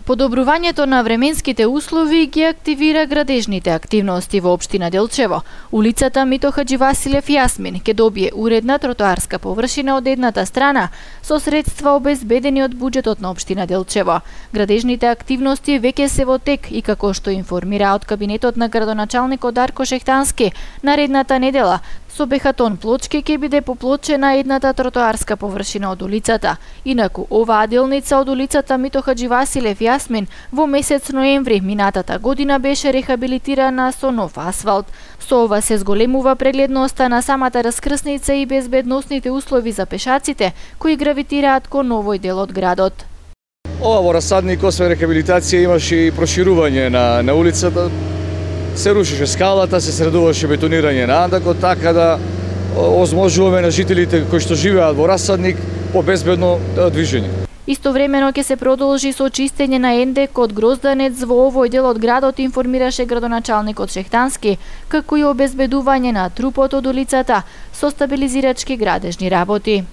Подобрувањето на временските услови ги активира градежните активности во општина Делчево. Улицата Мито Хаџивасилев Јасмин ќе добие уредна тротоарска површина од едната страна со средства обезбедени од буџетот на општина Делчево. Градежните активности веќе се во тек и како што информира од кабинетот на градоначалникот Дарко Шехтански, наредната недела со бехатон плочки ќе биде поплочена едната тротоарска површина од улицата. Инаку оваа делница од улицата Мито Хаџивасилев Јасмин во месец ноември минатата година беше рехабилитирана со нов асфалт. Со ова се зголемува прегледноста на самата раскрсница и безбедносните услови за пешаците кои гравитираат кон овој дел од градот. Ова во Расадник освен рехабилитација имаше и проширување на улицата. Се рушеше скалата, се средуваше бетонирање на андакот, така да озможуваме на жителите кои што живеат во Расадник по безбедно движење. Истовремено ќе се продолжи со чистење на ендек од грозданец во овој дел од градот, информираше градоначалникот Шехтански, како и обезбедување на трупот од улицата со стабилизирачки градежни работи.